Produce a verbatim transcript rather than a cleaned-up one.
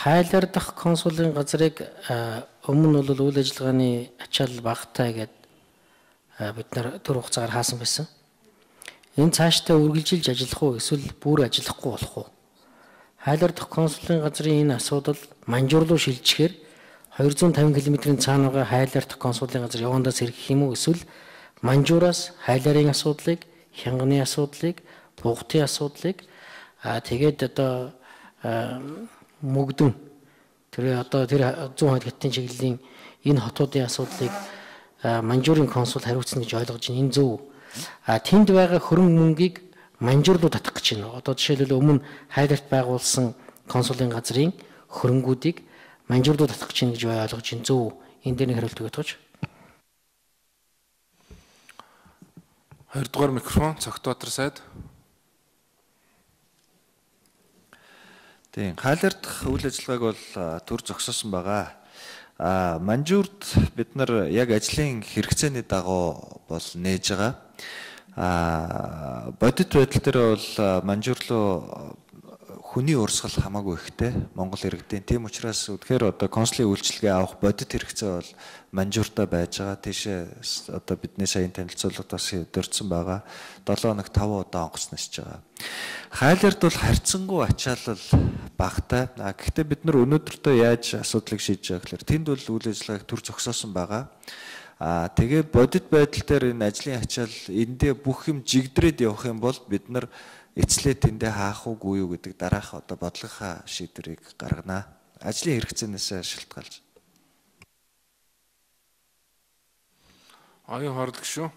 хайлар дахь консулын газрыг өмнө нь бол үйл ажиллагааны ачаал багатай гэдэг бид нар төр хугацаагаар хаасан байсан. Энэ цаашдаа үргэлжилж ажиллах уу эсвэл бүр ажиллахгүй болох уу? Хайлар дахь консулын газрын энэ асуудал Манжуур руу шилжихээр хоёр зуун тавин км-ийн цаана байгаа хайлар дахь консулын газар явандаас сэргэх юм уу эсвэл Манжуураас хайларын асуудлыг, хянганы асуудлыг, бугтын асуудлыг тэгээд одоо мөгдөн тэр одоо тэр зүүн хойд хятадын чиглэлийн энэ хотуудын асуудлыг Манжуурын консул хариуцна гэж ойлгож байна. Энэ зөв. А тэнд байгаа хөрөнгө мөнгийг Манжуур руу татах гэж байна. Одоо жишээлбэл өмнө хайларт байгуулсан консулын газрын хөрөнгүүдийг Манжуур руу татах гэж байна гэж ойлгож байна. Зөв. Энэ дээр нэг хариулт өгөөд тооч. Хоёрдугаар микрофон Цогтбаатар сайд. Тийм, хайлар дахь үйл ажиллагааг бол төр зогсоосон байгаа. А Манжуурд бид нар яг ажлын хэрэгцээний дагуу бол нээж байгаа. А бодит байдал дээр бол Манжуур руу хүний урсгал хамаагүй ихтэй Монгол иргэдийн. Тийм учраас үнэхээр одоо консулын үйлчилгээ авах бодит хэрэгцээ бол Манжууртаа байж байгаа. Тийшээ одоо бидний саяын танилцуулгаас дурдсан байгаа. долоо хоног таван удаа онгоцноосж байгаа. Хайлард бол харьцангуй ачаалал багтай. А гэхдээ бид нар өнөөдөртөө яаж асуудлыг шийдэж байгаа гэхээр тэнд бол үйл ажиллагааг төр зогсоосон байгаа. А тэгээ бодит байдал дээр энэ ажлын ачаал эндээ бүх юм жигдрээд явах юм бол бид нар эцлээ тэндээ хаах уугүй юу гэдэг дараах одоо бодлогынхаа шийдвэрийг гаргана. Ажлын хэрэгцээнээс шалтгаалж. Оюун хорлог шүү.